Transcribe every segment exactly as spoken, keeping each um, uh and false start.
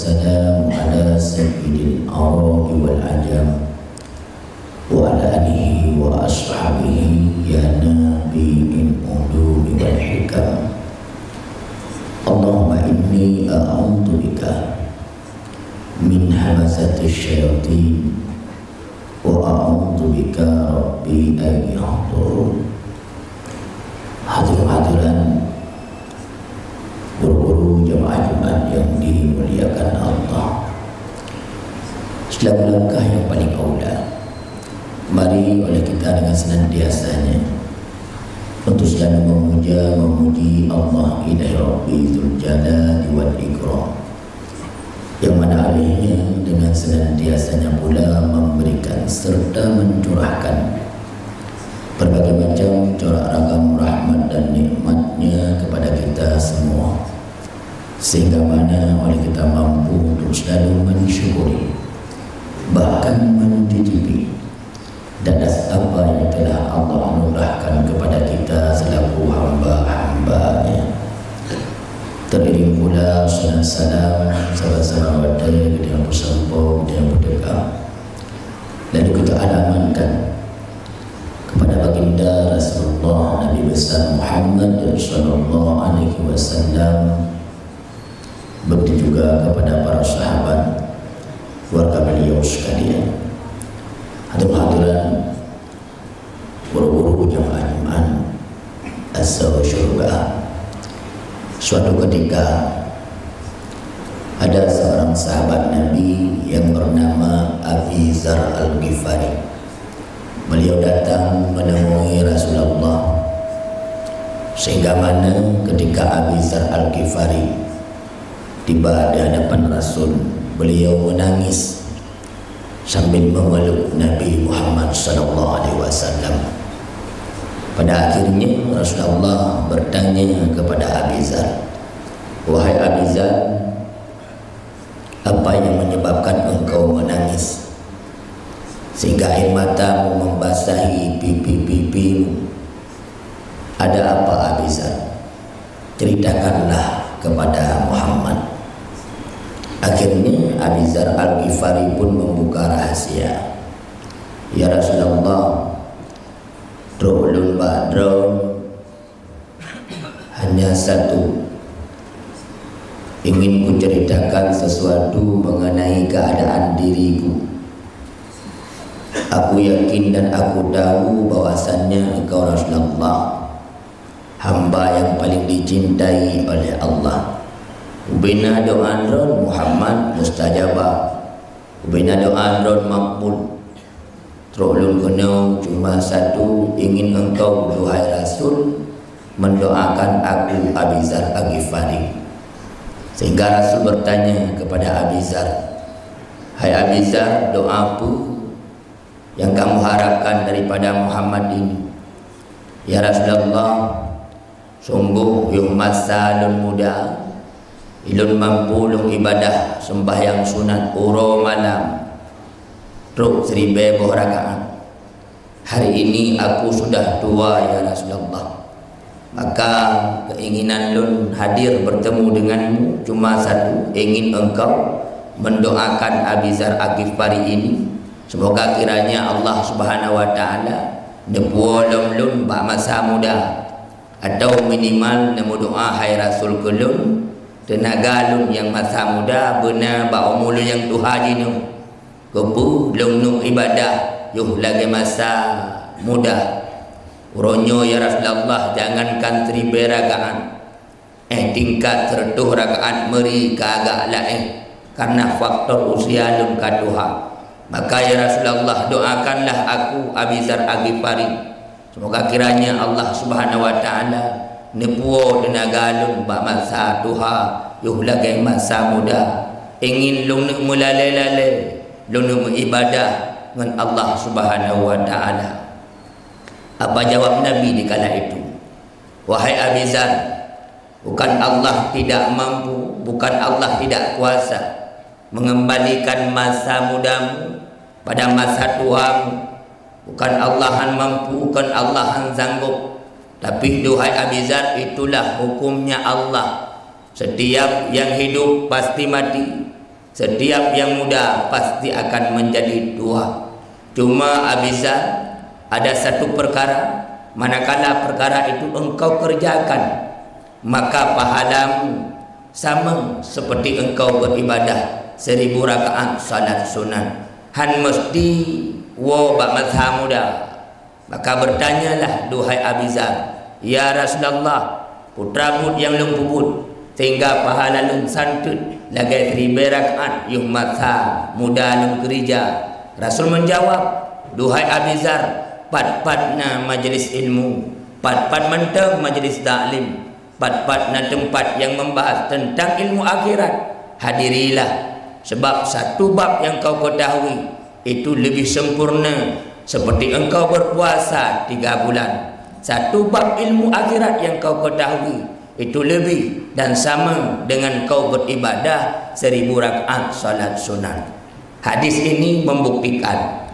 والسلام على سيد العرب والعجم وعلى آله وأصحابه يا نبي العلوم والحكم. اللهم إني أعوذ بك من همزات الشياطين وأعوذ بك رب أن يحضرون. Hadirin hadirat, guru-guru jamaah Jumat yang dimuliakan Allah. Selaku langkah yang paling aula, mari oleh kita dengan senantiasanya untuk selalu memuja, memuji Allah Ilahi Rabbi Dzul Jalali wal Ikram, yang mana olehnya dengan senantiasanya pula memberikan serta mencurahkan berbagai macam corak ragam rahmat dan nikmatnya kepada kita semua, sehingga mana oleh kita mampu untuk selalu mensyukuri, bahkan mencicipi di atas apa yang telah Allah anugerahkan kepada kita selaku hamba-hamba-Nya. Teriring pula salawat salam, salam-salam watée geutanyoe peusampoe, geutanyoe peuteuka. Lalu kita alamatkan kepada baginda Rasulullah Nabi besar Muhammad sallallahu alaihi wasallam, begitu juga kepada para sahabat, keluarga beliau sekalian. Hadirin hadirat, guru-guru jamaah Jumat asal syurga. Suatu ketika, ada seorang sahabat Nabi yang bernama Abi Dzar Al-Ghifari. Beliau datang menemui Rasulullah, sehingga mana ketika Abi Dzar Al-Ghifari tiba di hadapan Rasul, beliau menangis sambil memeluk Nabi Muhammad sallallahu alaihi wasallam. Pada akhirnya, Rasulullah bertanya kepada Abi Dzar, "Wahai Abi Dzar, apa yang menyebabkan engkau menangis sehingga air matamu membasahi pipi-pipimu? Ada apa, Abi Dzar? Ceritakanlah kepada Muhammad." Akhirnya, Abi Dzar Al-Ghifari pun membuka rahasia. "Ya Rasulullah, trok lôn bak droe hanya satu. Ingin kuceritakan sesuatu mengenai keadaan diriku. Aku yakin dan aku tahu bahwasannya engkau Rasulullah, hamba yang paling dicintai oleh Allah. Ubena doa droe Muhammad mustajabah. Ubena doa droe makbul. Trok lôn keunoe cuma satu, ingin engkau, duhai Rasul, mendoakan aku, Abi Dzar Al-Ghifari." Sehingga Rasul bertanya kepada Abi Dzar, "Hai Abi Dzar, doa peue yang kamu harapkan daripada Muhammad ini?" "Ya Rasulullah, sungguh yoh masa lôn muda, ilôn mampu lôn ibadah sembahyang sunat uroe malam trok siribée boh rakaat. Hari ini aku sudah tua, ya Rasulullah. Maka keinginan lôn hadir bertemu denganmu cuma satu, ingin engkau mendoakan Abi Dzar Al-Ghifari ini. Semoga kiranya Allah Subhanahu wa Ta'ala neupuwoe lom lôn bak masa muda, atau minimal neumeudoa hai Rasul keu lôn, teunaga lôn nyang masa muda beuna bak umu lôn nyang tuha jinoe. Keupeue lôn neuk ibadah yoh lagée masa muda? Uroe nyoe, ya Rasulullah, jangankan siribée rakaat, eh, tingkat sireutoh rakaat meuri ka agak laén, karna faktor usia lôn ka tuha. Maka, ya Rasulullah, doakanlah aku, Abi Dzar Al-Ghifari, semoga kiranya Allah Subhanahu wa Ta'ala neupuwoe teunaga lôn bak masa tuha yoh lagée masa muda. Ingin lôn neuk meulalée-lalée, lôn neuk meuibadah ngon Allah Subhanahu wa Ta'ala." Apa jawab Nabi di kala itu? "Wahai Abi Dzar, bukan Allah tidak mampu, bukan Allah tidak kuasa mengembalikan masa mudamu pada masa tuhamu. Bukan Allah han mampu, bukan Allah han sanggob. Tapi, duhai Abi Dzar, itulah hukumnya Allah. Setiap yang hidup pasti mati. Setiap yang muda pasti akan menjadi tua. Cuma Abizar, ada satu perkara, manakala perkara itu engkau kerjakan, maka pahalamu sama seperti engkau beribadah seribu rakaat salat sunat. Han mesti woe bak masa muda. Maka bertanyalah, duhai Abizar, "Ya Rasulullah, peue treuk buet nyang lôn peubuet, sehingga pahala lôn santeut lagée siribée rakaat yoh masa muda lôn keurija?" Rasul menjawab, "Duhai Abizar, pat-pat na majelis ilmu, pat-pat mantong majelis taklim, pat-pat na teumpat nyang membahas teuntang ilmu akhirat, hadirilah. Sebab satu bab nyang kau ketahui, itu lebih sempurna seperti engkau berpuasa tiga bulan. Satu bab ilmu akhirat nyang kau ketahui, itu lebih dan sama dengan kau beribadah seribu rakaat salat sunat." Hadis ini membuktikan,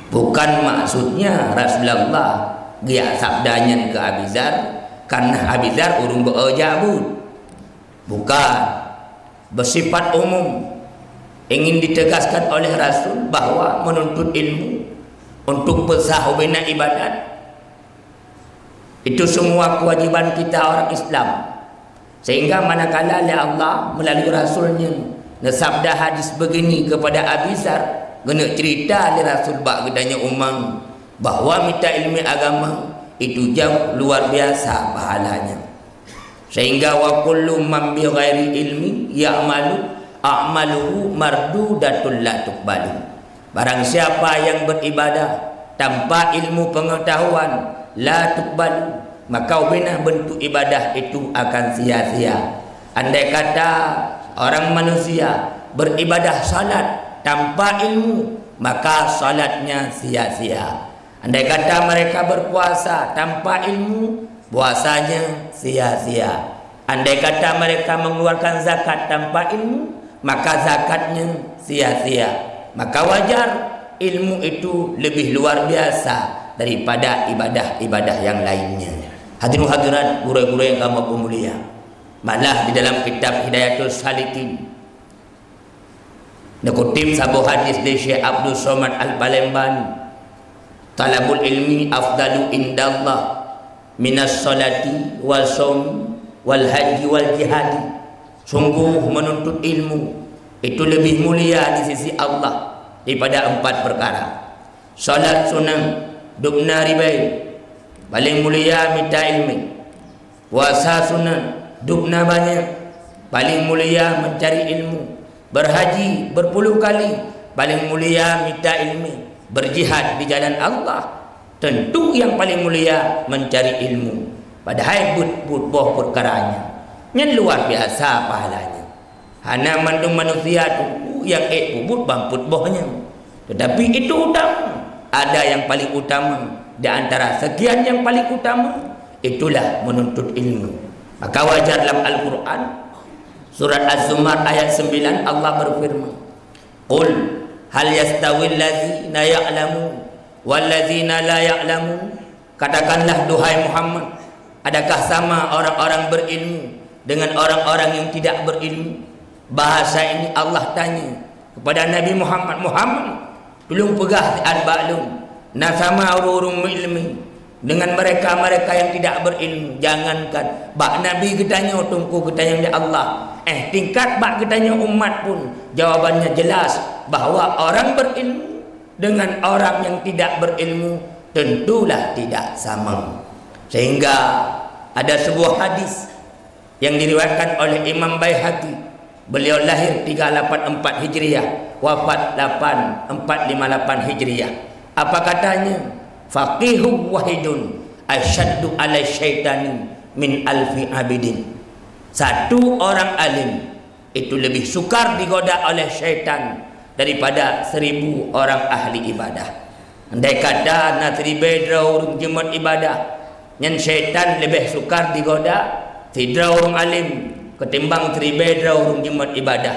bukan maksudnya Rasulullah geujak sabda nyan keu Abizar, karena Abizar ureuëng beu-o jak buet. Bukan. Bersifat umum, ingin ditegaskan oleh Rasul bahwa menuntut ilmu untuk beusah ubena ibadat, itu semua kewajiban kita orang Islam. Sehingga manakala lé Allah melalui Rasul-Nya neusabda hadis begini kepada Abizar, geuneuk cerita lé Rasul bak geutanyoe umat bahwa mita ilmu agama itu jauh luar biasa pahalanya. Sehingga, "Wa kullu man bi ghairi ilmi ya'malu, a'maluhu mardudatun la tuqbalu." Barang siapa yang beribadah tanpa ilmu pengetahuan, la tuqbalu, maka ubena bentuk ibadah itu akan sia-sia. Andai kata orang manusia beribadah salat tanpa ilmu, maka salatnya sia-sia. Andai kata mereka berpuasa tanpa ilmu, puasanya sia-sia. Andai kata mereka mengeluarkan zakat tanpa ilmu, maka zakatnya sia-sia. Maka wajar ilmu itu lebih luar biasa daripada ibadah-ibadah yang lainnya. Hadirin hadirat, gurée-gurée nyang kamoe peumulia, malah di dalam kitab Hidayatus Salikin, neukutip saboh hadis lé Syekh Abdul Somad Al-Palembang, "Talabul ilmi afdalu indallah minas salati was shaumi wal haji wal jihadi." Sungguh, menuntut ilmu itu lebih mulia di sisi Allah daripada empat perkara. Salat sunat, dubna ribée, paling mulia mita ilmu. Puasa sunat, dubna banyak, paling mulia mencari ilmu. Berhaji berpuluh kali, paling mulia mita ilmu. Berjihad di jalan Allah, tentu yang paling mulia mencari ilmu. Padahai buet-buet boh perkaranya, nyan luar biasa pahalanya. Hana mandum manusia tu nyang ék peubuet ban peuet boh nyan. Tetapi itu utama. Ada yang paling utama di antara sekian yang paling utama, itulah menuntut ilmu. Maka wajar lam Al-Quran, surat Az-Zumar ayat sembilan, Allah berfirman, "Qul hal yastawil ladzina ya'lamun wal ladzina la ya'lamun?" Katakanlah, duhai Muhammad, adakah sama orang-orang berilmu dengan orang-orang yang tidak berilmu? Bahasa ini Allah tanya kepada Nabi Muhammad, "Muhammad, tulung peugah siat bak lôn, na sama ureuëng-ureuëng meuilmu dengan mereka-mereka yang tidak berilmu?" Jangankan bak Nabi geutanyoe, teungku geutanyoe lé Allah, eh, tingkat bak geutanyoe umat pun jawabannya jelas, bahwa orang berilmu dengan orang yang tidak berilmu tentulah tidak sama. Sehingga ada sebuah hadis yang diriwayatkan oleh Imam Baihaqi. Beliau lahir tiga lapan empat Hijriah, wafat lapan, empat lima lapan Hijriah. Apa katanya? "Faqihun wahidun asyaddu ala syaitani min alfi abidin." Satu orang alim itu lebih sukar digoda oleh syaitan daripada seribu orang ahli ibadah. Andai kata na siribée droe ureuëng jimat ibadah, nyan syaitan leubeh sukar digoda sidroe ureuëng alim ketimbang siribée droe ureuëng jimat ibadah.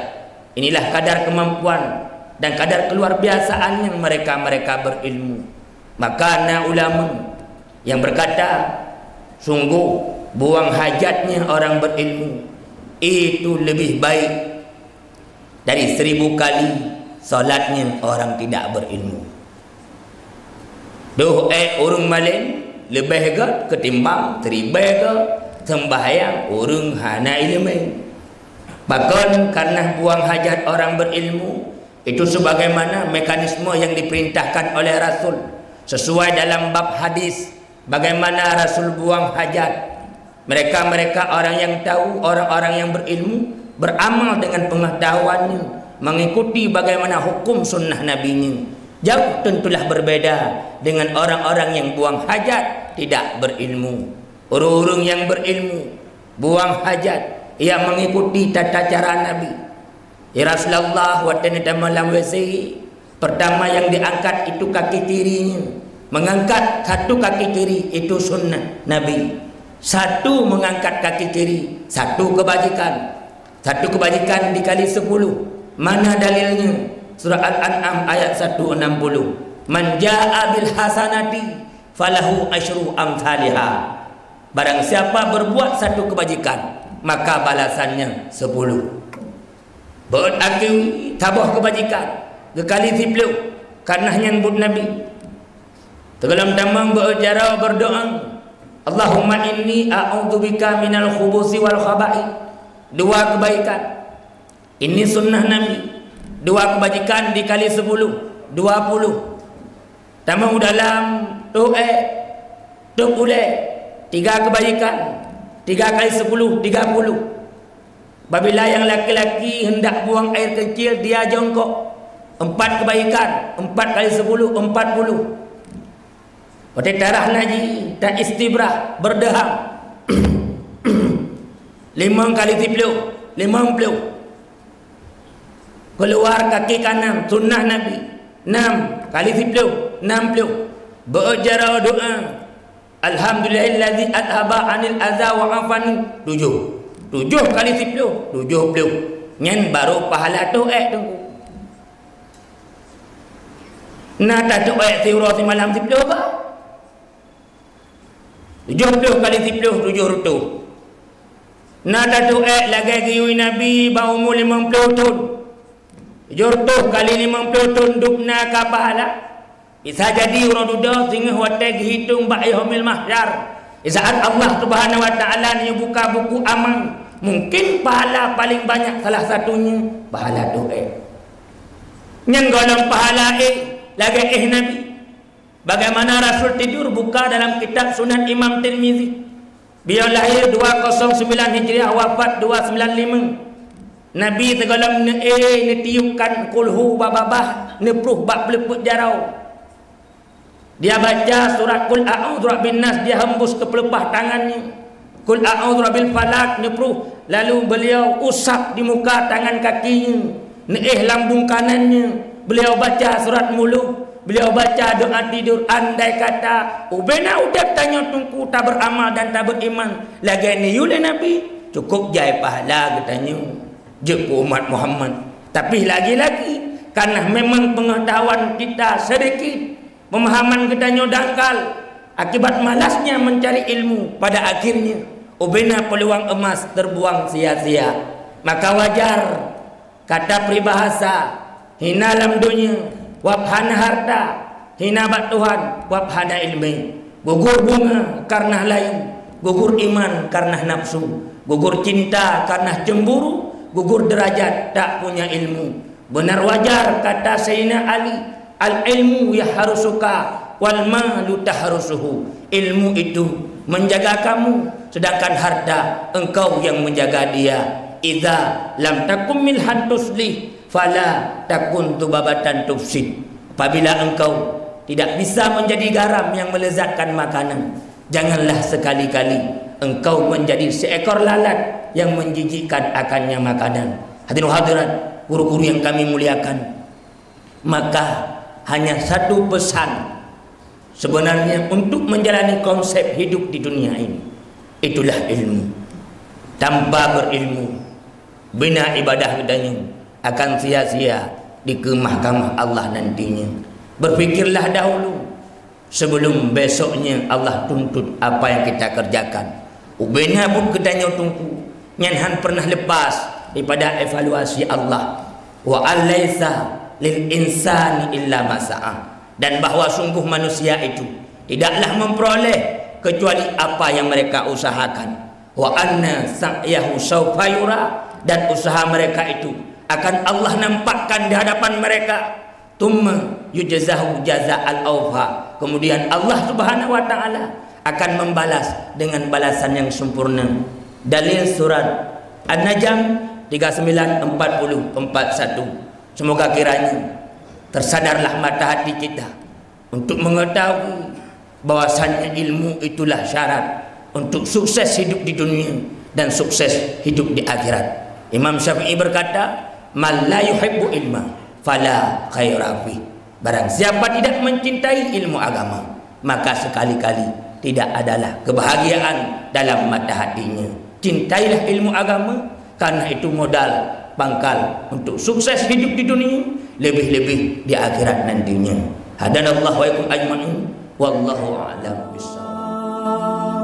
Inilah kadar kemampuan dan kadar keluar biasaan yang mereka-mereka berilmu. Maka na ulama yang berkata, "Sungguh, buang hajatnya orang berilmu itu lebih baik dari seribu kali salatnya orang tidak berilmu. Toh ék ureuëng malém leubeh gét ketimbang siribée gét sembahyang ureuëng hana iéleumé. Pakon? Karena buang hajat orang berilmu itu sebagaimana mekanisme yang diperintahkan oleh Rasul, sesuai dalam bab hadis bagaimana Rasul buang hajat. Mereka-mereka orang yang tahu, orang-orang yang berilmu, beramal dengan pengetahuannya, mengikuti bagaimana hukum sunnah nabinya. Jauh tentulah berbeda dengan orang-orang yang buang hajat, tidak berilmu. Ureuëng-ureuëng yang berilmu, buang hajat, ia mengikuti tata cara Nabi. Ya Rasulullah, watée neutamong lam W C, pertama yang diangkat itu kaki kirinya. Mengangkat satu kaki kiri itu sunnah Nabi. Satu mengangkat kaki kiri, satu kebajikan. Satu kebajikan dikali sepuluh. Mana dalilnya? Surah Al-An'am ayat satu enam puluh. "Man jaa bil hasanati falahu asyru amsalihha." Barang siapa berbuat satu kebajikan, maka balasannya sepuluh. Beuet akhé saboh keubajikan geukali siplôh, karna nyan buet Nabi. Teugohlom tamong beuet jaroe beureudoá, "Allahumma inni a'udzubika minal khubusi wal khaba'its." Dua keubaikan. Ini sunnah Nabi. Dua keubajikan dikali sepuluh, dua puluh. Tamong u dalam, toh ék, toh ulée, tiga keubaikan, tiga kali sepuluh, tiga puluh. Apabila yang laki-laki hendak buang air kecil, dia jongkok. Empat kebaikan, empat kali sepuluh, empat puluh. Watée tarah najis, ta istibrah, beurdeuham. Limong kali siplôh, limong plôh. Keuluar kaki kanan, sunnah Nabi. Nam kali siplôh, nam plôh. Beuet jaroe doá. "Alhamdulillahilladzi adhaba 'anil adza wa 'afani." Tujoh. Tujoh kali siplôh, tujoh plôh. Nyan barô pahala toh ék, Teungku. Na tatoh ék siuroe simalam siplôh ba? Tujoh plôh kali siplôh, tujoh reutôh. Na tatoh ék lagée geuyue Nabi bak umu limong plôh thon. Tujoh reutôh kali limong plôh thon dub na ka pahala. Bisa jadi uroe dudoe singoh watée geuhitong bak Yaumil Mahsyar, di saat Allah Subhanahu wa Taala neubuka buku amal, mungkin pahala paléng banyak salah satunya pahala toh ék. Nyan gohlom pahala ék lagée éh Nabi. Bagaimana Rasul tidur buka dalam kitab Sunan Imam Tirmizi. Beliau lahir dua kosong sembilan Hijriah, wafat dua sembilan lima. Nabi teugohlom neuéh neutiupkan kulhu bak babah, neupruh bak peuleupeut jaroe. Dia baca surat Qul A'udzu Birabbin Nas, dia hembus keu peuleupat tangan nyan. Qul A'udzu Birabbil Falaq neupruh, lalu beliau usap di muka tangan kaki nyan, neuéh lambung kanan nyan. Beliau baca surat Muluk, beliau baca doa tidur. Andai kata ubena udeb tanyoe Teungku tabeuramal dan taberiman lagée neuyue lé Nabi, cukup jai pahala geutanyoe jeuet keu umat Muhammad. Tapi lagi-lagi, karena memang pengetahuan kita sedikit, pemahaman geutanyoe dangkal, akibat malasnya mencari ilmu, pada akhirnya ubena peluang emas terbuang sia-sia. Maka wajar, kata peribahasa, hina lam donya, wab hana harta, hina bak Tuhan, wab hana iéleumé. Gugur bunga karna layu, gugur iman karna nafsu, gugur cinta karna cemburu, gugur derajat tak punya ilmu. Benar wajar kata Sayyidina Ali, "Al-ilmu yahrusuka wal malu tahrusuhu." Ilmu itu menjaga kamu, sedangkan harta engkau yang menjaga dia. "Idza lam takun milhan tuslih, fala takun dzubabatan tufsid." Apabila engkau tidak bisa menjadi garam yang melezatkan makanan, janganlah sekali-kali engkau menjadi seekor lalat yang menjijikkan akannya makanan. Hadirin hadirat, guru-guru yang kami muliakan, maka hanya satu pesan sebenarnya untuk menjalani konsep hidup di dunia ini, itulah ilmu. Tanpa berilmu, bina ibadah geutanyoe akan sia-sia di mahkamah Allah nantinya. Berpikirlah dahulu sebelum besoknya Allah tuntut apa yang kita kerjakan. Ubena buet geutanyoe Teungku, nyan hana pernah lepas daripada evaluasi Allah. Wa an laisa lil insani illa ma sa'a. Dan bahwa sungguh manusia itu tidaklah memperoleh kecuali apa yang mereka usahakan. Wa anna sa'yahu saufa yura, dan usaha mereka itu akan Allah nampakkan di hadapan mereka. Tsumma yujzahu jaza'al aufa. Kemudian Allah Subhanahu wa taala akan membalas dengan balasan yang sempurna. Dalil surat An-Najm tiga sembilan, empat puluh, empat satu. Semoga kiranya tersadarlah mata hati kita untuk mengetahui bahwasanya ilmu itulah syarat untuk sukses hidup di dunia dan sukses hidup di akhirat. Imam Syafi'i berkata, "Man la yuhibbu ilma fala khaira fih." Barang siapa tidak mencintai ilmu agama, maka sekali-kali tidak adalah kebahagiaan dalam mata hatinya. Cintailah ilmu agama, karena itu modal pangkal untuk sukses hidup di dunia, lebih-lebih di akhirat nantinya. Hadanallahu wa iyyakum ajma'in. Wallahu a'lam bishawab.